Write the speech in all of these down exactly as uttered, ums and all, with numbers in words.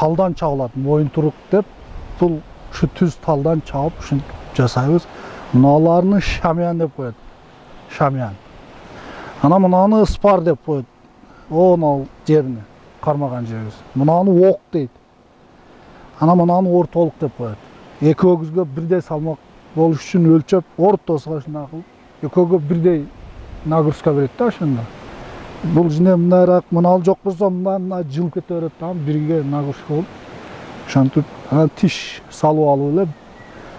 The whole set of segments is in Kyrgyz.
талдан чабылат, моюнтурук деп. Бул ушу түз талдан чабып ушинтип жасайбыз. Мыналарны шамян деп коет. Шамян. Ана мынаны ыспар деп коет. Онал жерине кармаган жерибиз. Мынаны ок дейт. Ана мынаны ортолук деп коет. Экөөбүзгө бирдей салмак болуш үчүн өлчөп, ортосуга ушундай кылып, экөөгө бирдей нагрузка берет да ошондо. Бул жине мындайраак, мынал жок болсо мындан жылып кете берет да, бирге нагрузка болуп. Ошентип анан тиш салып алып эле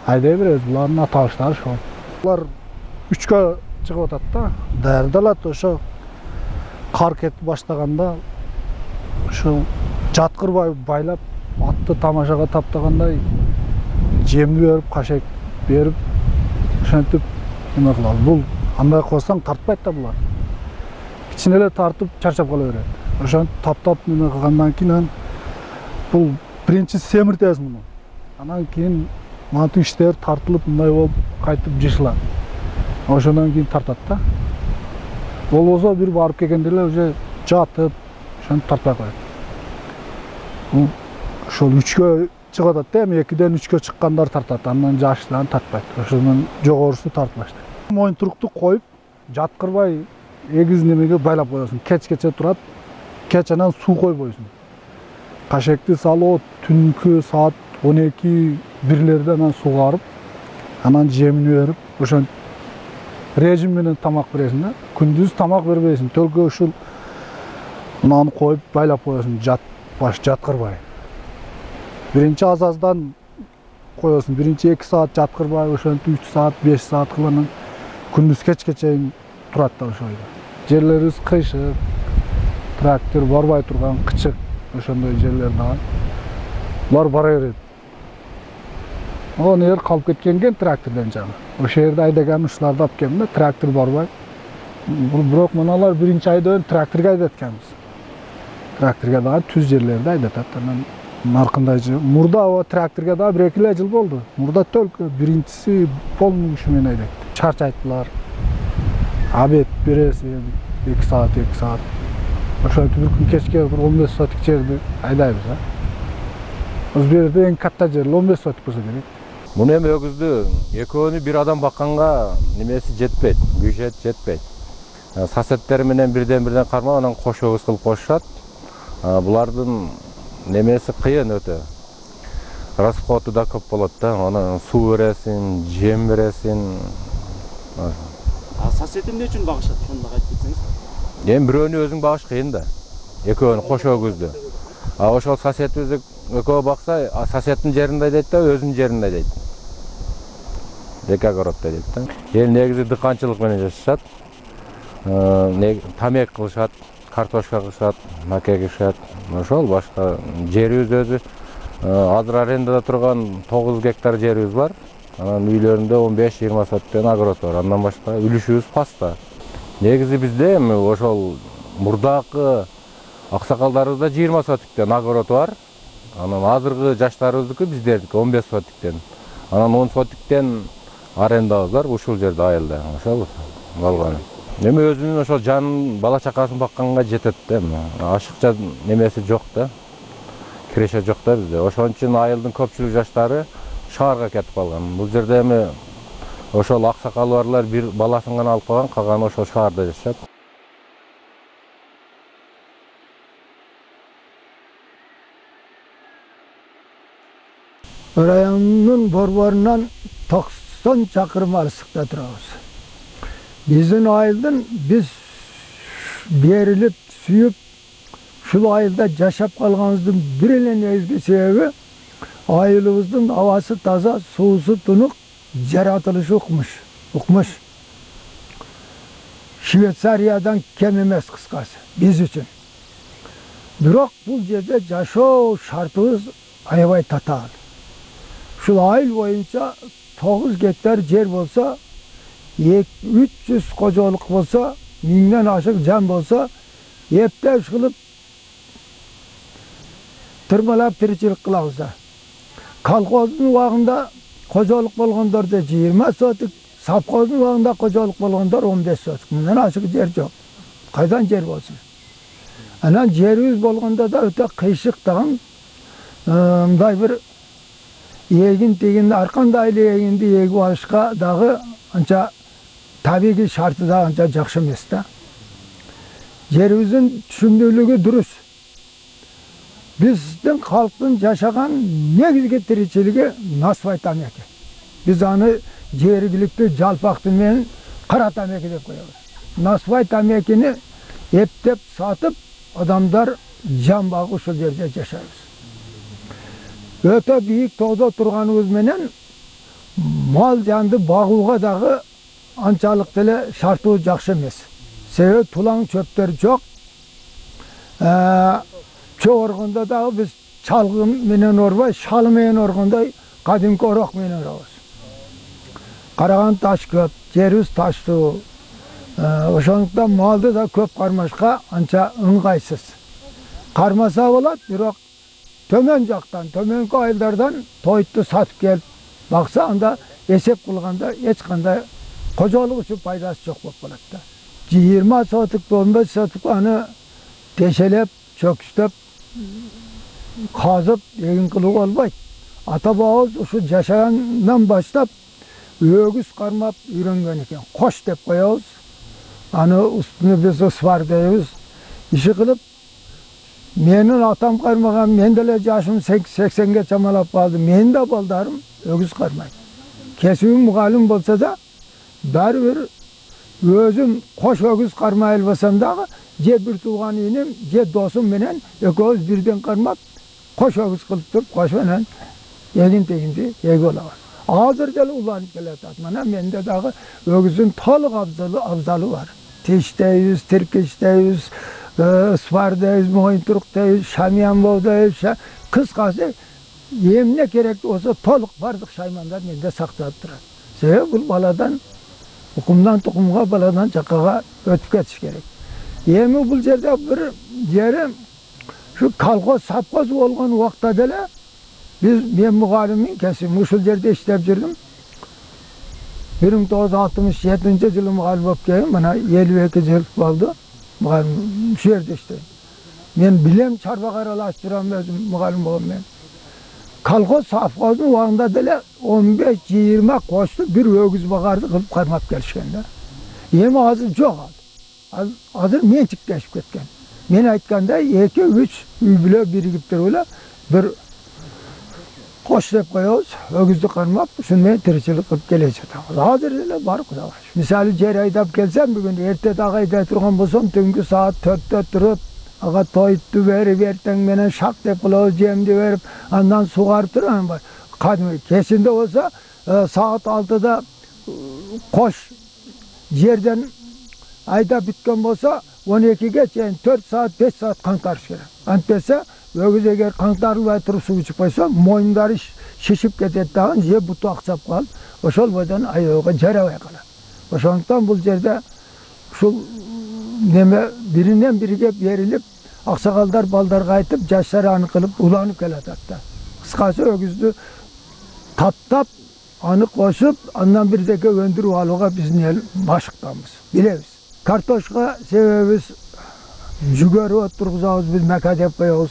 айдай беребиз. Булардын аталыштары ошол. Булар үчкө чыгып атат да, даярдалат. Ошо кар кетип баштаганда ошо жаткырбай байлап, атты тамашага таптагандай жемди берип, кашек берип, ошентип эме кылабыз. Бул андай кылсаң тартпайт да булар. Кичине эле тартып чарчап кала берет. Ошентип таптап эме кылгандан кийин бул биринчи семиртебиз муну. Анан кийин мантип иштер тартылып мындай болуп кайтып жышылат. Ошондон кийин тартат да. Болбосо бир барып келгенде эле уже жатып, ошентип тартпай коет. Бул ошол үчкө чыгып атат да, эми экиден үчкө чыккандар тартат, андан жашынан тартпайт. Ошондон жогорусу тартып баштайт. Моюнтурукту коюп, жаткырбай эгиз немеге байлап коесуң. Кеч-кече турат, кеч анан суу койбойсуң. Кашекти салып, түнкү саат он эки бирлерде анан сугарып, анан жемин берип, ошентип режим менен тамак бересиң да. Күндүз тамак бербейсиң, төлкө ушул мынаны коюп байлап коесуң, жат баш жаткырбай. Биринчи азаздан коесуң, биринчи эки саат жаткырбай, ошентип үч саат, беш саат кылып күндүз кечке чейин турат да ошол жерде. Жерлерибиз кыйшык, трактор барбай турган кычык, ошондой жерлер да. Булар бара берет. Оны эгер калып кеткен экен трактордон жагы. Ошол жерде айдаган ушуларды алып келдим да, трактор барбай. Бирок мыналар биринчи айда тракторго айдат экенбиз. Тракторго дагы түз жерлерди айдатат. Анан наркындай жыл. Мурда тракторго дагы бир эки эле жыл болду. Мурда только биринчиси полный күчү менен айдайт. Чарчайттылар. Обед бересиң, эки саат, эки саат. Ошентип бир күн кечке бир он беш сотик жерди айдайбыз да. Биз бул жерде эң катта жер он беш сотик болсо керек. Муну эми өгүздү экөөнү бир адам бакканга немеси жетпейт, бюджет жетпейт. Сосеттер менен бирден-бирден кармап, анан кош өгүз кылып кошушат. Булардын немеси кыйын өтө. Расходу да көп болот да. Аны суу бересиң, жем бересиң. А сосед эмне үчүн багышат? Ошону да айтып кетсеңиз. Эми бирөөнү өзүң багыш кыйын да. Экөөнү кош өгүздү. А ошол соседибизди экөө бакса, соседдин жеринде дейт да, өзүнүн жеринде дейт. Эки огороддо дейт да. Эл негизи дыканчылык менен жашашат. Тамек кылышат, картошка кылышат, маке кылышат. Ошол башка жерибиз өзү азыр арендада турган тогуз гектар жерибиз бар. Анан үйлөрүндө он беш жыйырма соттон огород бар. Андан башка үлүшүбүз паста. Негизи бизде эми ошол мурдакы аксакалдарыбызда жыйырма сотиктен огород бар. Анан азыркы жаштарыбыздыкы биздердики он беш сотиктен. Анан он сотиктен арендабыз бар ушул жерде айылда. Ошол болгон. Эми өзүнүн ошол жанын, бала чакасын бакканга жетет да. Ашыкча немеси жок да. Киреше жок да бизде. Ошон үчүн айылдын көпчүлүк жаштары шаарга кетип калган. Бул жерде эми ошол аксакалы барлар бир баласын гана алып калган, калганы ошол шаарда жашашат. Райондун борборунан токсон чакырым алыстыкта турабыз. Биздин айылдын биз берилип, сүйүп, ушул айылда жашап калганыбыздын бир эле негизги себеби айылыбыздын абасы таза, суусу тунук, жаратылышы укмуш. Укмуш. Швейцариядан кем эмес кыскасы биз үчүн. Бирок бул жерде жашоо шартыбыз аябай татаал. Ушул айыл боюнча тогуз гектар жер болсо, үч жүз кожолук болсо, миңден ашык жан болсо, эптеп кылып тырмалап тиричилик кылабыз да. Колхоздун убагында кожолук болгондордо жыйырма сотик, совхоздун убагында кожолук болгондор он беш сотик. Мындан ашык жер жок. Кайдан жер болсун? Анан жерибиз болгондо да өтө кыйшык тагын, мындай бир эгин тегин ар кандай эле эгинди эгип алышка дагы анча табигый шарты да анча жакшы эмес да. Жерибиздин түшүмдүүлүгү дурус. Биздин калктын жашаган негизги тиричилиги насыбай тамеки. Биз аны жергиликтүү жалпактуу менен кара тамеки деп коебуз. Насыбай тамекини эптеп сатып адамдар жан багып ушул жерде жашайбыз. Өтө бийик тоодо турганыбыз менен мал жанды багууга дагы анчалык деле шартыбыз жакшы эмес. Себеби тулаң чөптөр жок. Чөп оргондо дагы биз чалгы менен орбой, шалы менен оргондой кадимки орок менен орабыз. Караган таш көп, жерибиз таштуу. Ошондуктан малды да көп кармашка анча ыңгайсыз. Кармаса болот, бирок төмөн жактан, төмөнкү айылдардан тойту сатып келип бакса, анда эсеп кылганда эч кандай кожолук үчүн пайдасы жок болуп калат да. жыйырма сотук, он беш сотук аны тешелеп, чөкүчтөп, казып эгин кылууга болбойт. Ата бабабыз ушу жашагандан баштап өгүз кармап үйрөнгөн экен. Кош деп коебуз. Аны устуну биз ысвар дейбиз. Иши кылып, менин атам кармаган, мен деле жашым сексенге чамалап калды. Менин да балдарым өгүз кармайт. Кесибим мугалим болсо да, баары бир өзүм кош өгүз кармай албасам дагы, же бир тууган иним, же досум менен экөөбүз бирден кармап, кош өгүз кылып туруп, кош менен эгин тегинди эгип алабыз. Азыр деле уланып келатат. Мына менде дагы өгүздүн толук абзалы бар. Тиштейбиз, тиркичтейбиз, ысвар дейбиз, моюнтурук дейбиз, шамиян боо дейбиз. Кыскасы, эмне керек болсо толук бардык шаймандар менде сакталып турат. Себеби бул баладан укумдан тукумга, баладан жаккага өтүп кетиш керек. Эми бул жерде бир жери şu колхоз совхоз болгон убакта деле biz men mugallimmin kesim ушул жерде иштеп жүрдүм. bir ming to'qqiz yuz altmış yedinchi жылы mugallim болуп келдим. Мына elүү эки жыл болду. Mugallim ушул жерде иштейм. Мен билем чарба каралашып турам өзүм mugallim болгон мен. Колхоз совхоздун убагында деле он беш жыйырма кошту бир өгүз багарды кылып кармап келишкен да. Эми азыр жок ал. Азыр менчиктешип кеткен. Мен айткандай эки үч үй бүлө биригип туруп эле бир кош деп коебуз, өгүздү кармап, ушуну менен тиричилик кылып келе жатабыз. Азыр эле бар Кудайга шүкүр. Мисалы жер айдап келсем, бүгүн эрте дагы айдай турган болсом, түнгү саат төрттө туруп, ага тойту берип, эртең менен шак деп кылабыз, жемди берип, андан сугарып турам бар. Кадимки кечинде болсо, саат алтыда кош жерден айдап бүткөн болсо, он экиге чейин төрт саат, беш саат каңтарыш керек. Антпесе, өгүз эгер каңтарылбай туруп суу ичип койсо, мойундары шишип кетет дагы, же буту аксап калып, ошол бойдон айоого жарабай калат. Ошондуктан бул жерде ушул неме биринен бириге берилип, аксакалдар балдарга айтып, жаштар аны кылып уланып келатат да. Кыскасы өгүздү таптап, аны кошуп, андан бирдеке өндүрүп алууга биздин эл машыктанбыз, билебиз. Картошка себебибиз жүгөрү отургузабыз, биз мека деп коебуз.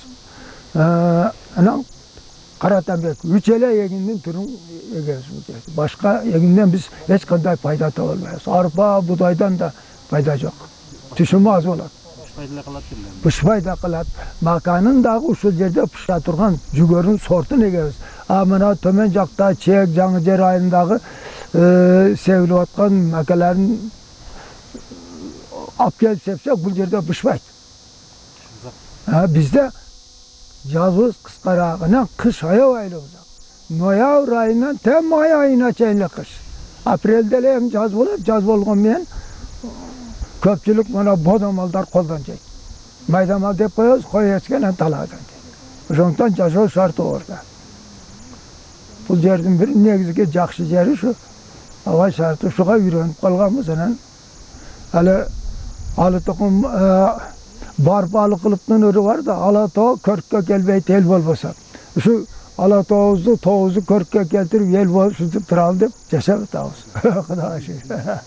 Анан кара тамек, үч эле эгиндин түрүн эгебиз. Башка эгинден биз эч кандай пайда таба албайбыз. Арпа, будайдан да пайда жок. Түшүмү аз болот. Бышпай деле калат беле. Бышпай да калат. Маканын дагы ушул жерде пышта турган жүгөрүн сортун эгебиз. А мына төмөн жакта Чек, Жаңы Жер айылындагы себилип аткан макаларын алып келип сепсек, бул жерде бышпайт. Бизде жазыбыз кыскараак, анан кыш аябай эле узак. Ноябрь айынан те май айына чейин эле кыш. Апрелде эле эми жаз болот, жаз болгон менен көпчүлүк мына бодо малдар колдон жейт. Майда мал деп коебуз, кой эчкен талаадан жейт. Ошондуктан жашоо шарты орда. Бул жердин бир негизги жакшы жери ушу аба шарты, ушуга үйрөнүп калганбыз. Анан али алы токум бар балы кылыптын өрү бар да, ала тоо көрккө келбейт эл болбосо. Ушу ала тообузду, тообузду көрккө келтирип эл болуп туралы деп жашап атабыз. Кудайга шүгүр.